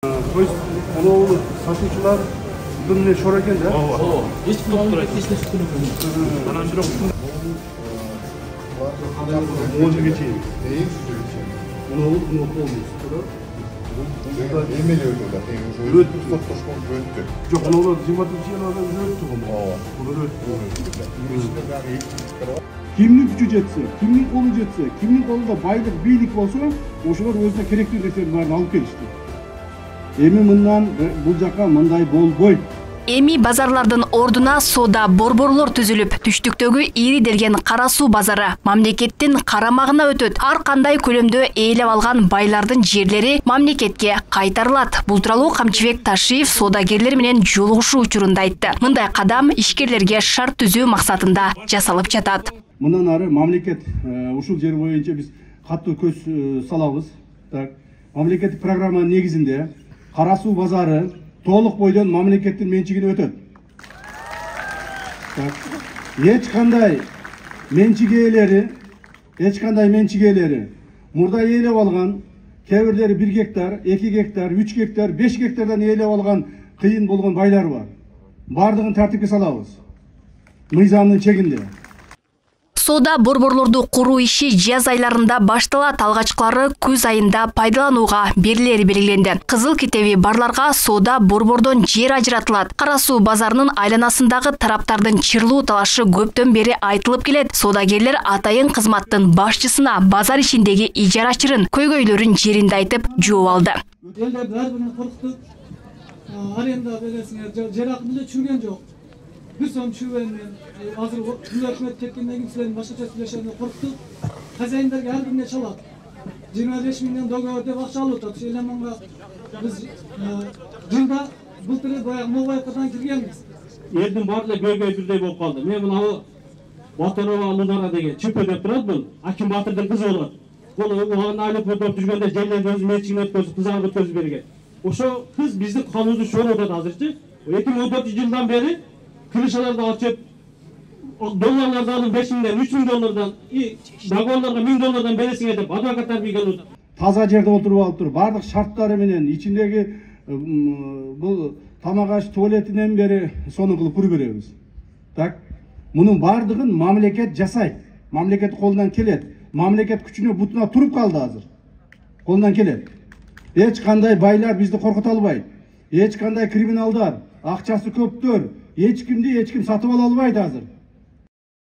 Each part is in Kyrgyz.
То есть onu satışçılar bunun şora eкен да? Hiç tutturaydı, hiç tutturaydı. Anam bir okudum. Onu geçeyim. Onu olmuş. Emeli öldürdü. Öldü. Öldü. Yok onu 26 yıl adam öldü onu. Bunu öldü. Kimlik gücü jetse, kimlik kolu jetse, kimlik kolunda baylık, biйлик bolsa, ошолор өзүнө керектүү нерсенин баарын алып келишти. Эми мындан бул жака мындай болбойт. Эми базарлардын ордуна соода борборлор түзүлүп, түштүктөгү ири делген Кара Суу базары мамлекеттин карамагына өтөт. Ар кандай көлөмдө ээлеп алган байлардын жерлери мамлекетке кайтарылат. Бул тууралуу Камчыбек Ташиев соодагерлер менен жолугушуу учурунда айтты. Мындай кадам ишкерлерге шарт түзүү максатында жасалып жатат. Мындан ары мамлекет ушул жер боюнча биз катуу көз салабыз. Так, мамлекеттик программанын негизинде Кара Суу базары толук бойдон мамлекеттин менчигине өтөт. Так, эч кандай менчик ээлери мурда ээлеп алган, кээ бирлери 1 гектар, 2 гектар, 3 гектар, 5 гектардан ээлеп алган кыйын болгон байлар бар. Бардыгын тартипке салабыз. Мыйзамдын чегинде. Соода борборлорду куруу иши жаз айларында башталат. Алгачкылары күз айында пайдаланууга берилери белгиленди. Кызыл китеби барларга соода борбордон жер ажыратылат. Кара Суу базарынын айланасындагы тараптардын чырлуу талашы көптөн бери айтылып келет. Соодагерлер атайын кызматтын башчысына базар ишиндеги ижарачырын, көйгөйлөрүн жеринде айтып жооп алды. Элдерди ар бирин коркутуп, аренда бересиңер, жер акын деле чүрген жок. Bir son çüvenle hazır hükümet tepkinden kimselerin başka çözümleşenle korktu. Hazayinlerge her birine çalat. 25 milyon dolar öde bakça alıp Şeyleman'a biz yılda bu türlü Moğayaka'dan kirgenmiz. Elдің барлығы көйгөй бірдей болып қалды. Мен мынау Батырова Лунара деген чүп өдеп тұрады бұл. Аким Батырдың қызы болады. Бұл оған айлық өтіп жүргенде жерлерді өзі меншігіне өткізіп, қызарып өткізіп берген. Ошо қыз біздің қалуды шоруда азырчы. 2014 жылдан бері Kırışalarda açıp dolarlardan alın 5 minden, 3 bin dolardan, vagonlarga 1000 dolardan beresin edip advokatlar bir geldi. Таза жерде отуруп алып туруп, бардык шарттары менен ичиндеги бул тамак аш туалетинен бери сону кылып көрүп беребиз. Так, мунун бардыгын мамлекет жасайт. Мамлекет колунан келет. Мамлекет күчүнө бутуна туруп калды азыр. Колунан келет. Эч кандай байлар бизди коркута албайт. Эч кандай криминалдар, акчасы көптөр эч ким сатып ала албайт азыр.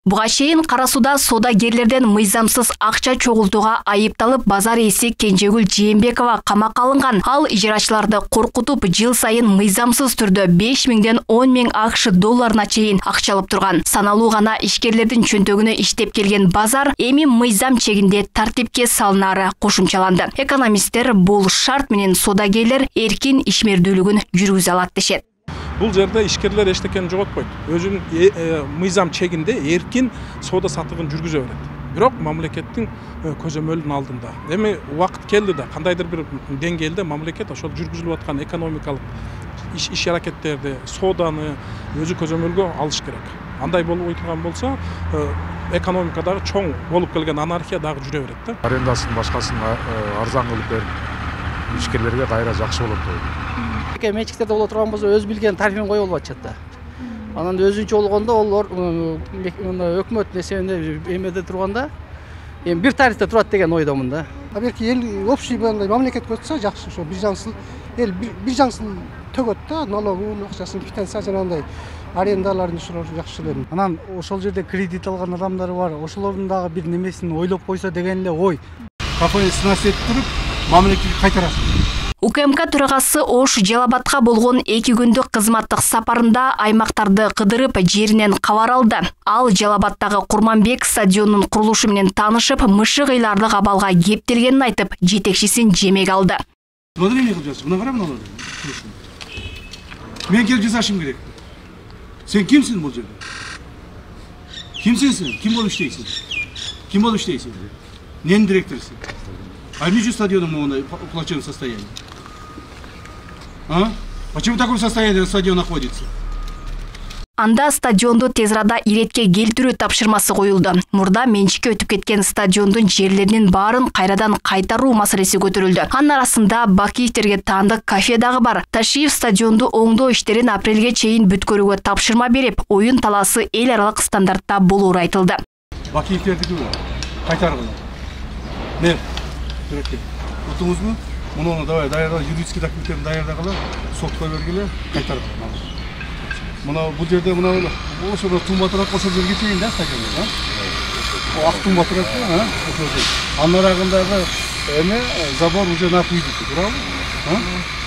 Буга чейин Кара Сууда соодагерлерден мыйзамсыз акча чогултууга айыпталып базар ээси Кенжегүл Жээнбекова камакка алынган. Ал ижарачыларды коркутуп, жыл сайын мыйзамсыз түрдө 5 миңден 10 миң АКШ долларына чейин акча алып турган. Саналуу гана ишкерлердин чөнтөгүнө иштеп келген базар эми мыйзам чегинде тартипке салынары кошумчаланды. Экономисттер бул шарт менен соодагерлер эркин ишмердүүлүгүн жүргүзө алат дешет. Бұл жерде ишкерлер эчтекени жоготпойт. Өзүнүн мыйзам чегинде эркин соода сатыгын жүргүзө берет. Бирок мамлекеттин көзөмөлүнүн алдында. Эми убакыт келди да, кандайдыр бир деңгээлде мамлекет ошол жүргүзүлүп аткан экономикалык иш аракеттерди, сооданы өзү көзөмөлгө алыш керек. Андай болбой турган болсо, экономикадагы чоң болуп келген анархия дагы жүрө берет да. Арендасын башкасын арзан кылып берип, ишкерлерге кайра жакшы болот дейт. Менчиктерде боло турган болсо өз билген тарифин коюп алып атышат да. Анан өзүнчө болгондо олор өкмөт несебинде эмеде турганда эми бир тарифте турат деген ойдомун да. Берки эл общий мамлекет көтсө жакшы, ошо биржаңсыл эл биржаңсыл төгөт да, налогун, акчасын, квитанция жанагындай арендаларын ушулар жакшы эле. Анан ошол жерде кредит алган адамдар бар, ошолордун дагы бир немесин ойлоп койсо деген эле ой. Кафени снасет туруп, мамлекетке кайтарасың. УКМК төрагасы Ош Жалабатка болгон 2 күндүк кызматтык сапарында аймактарды кыдырып жеринен кабар алды. Ал Жалабаттагы Курманбек стадионунун курулушу менен таанышып, мышыгыйлардык абалга кептелгенин айтып, жетекчисин жемек алды. Мына эмне кылып жатсың? Мына кара мыналарды. Мен келип жасашым керек. Сен кимсиң бул жерде? Кимсиң сен? Ким болуп иштейсиң? Ким болуп иштейсиң? Ненин директорусуң? А почему стадионом в плачевном состоянии? А? Почему в таком состоянии стадион находится? Анда стадионду тез арада иретке келтирүү тапшырмасы коюлду. Мурда менчикке өтүп кеткен стадиондун жерлеринин баарын кайрадан кайтаруу маселеси көтөрүлдү. Анын арасында Бакиевтерге таандык кафе дагы бар. Ташиев стадионду оңдоо иштерин апрелге чейин бүткөрүүгө тапшырма берип, оюн талаасы эл аралык стандартта болоору айтылды. Бакиевтердики кайтаргыла. Мен утуңузбу? Муну давай даярда юридический документтерин даярдагыла, сотко бергиле, кайтаргыла. Мына бул жерде мына ошо тумба турат, ошол жерге чейин да стадиондо, ак тумба турат, анын арагындагы эме забор уже напуйдук, туурабы?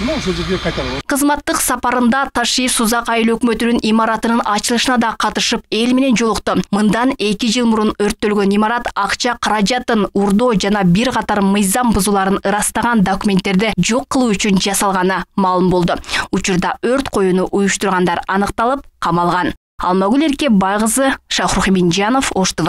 Мына ошол жерге кайтарып. Кызматтык сапарында Ташиев Сузак айыл өкмөтүнүн имаратынын ачылышына да катышып, эл менен жолукту. Мындан 2 жыл мурун өрттөлгөн имарат акча каражатын, урдоо жана бир катар мыйзам бузууларын ырастаган документтерди жок кылуу үчүн жасалганы маалым болду. Учурда өрт коюуну уюштургандар аныкталып, камалган. Алмагүл Эрке Байгызы, Шахрух Минжанов, Ош ТВ.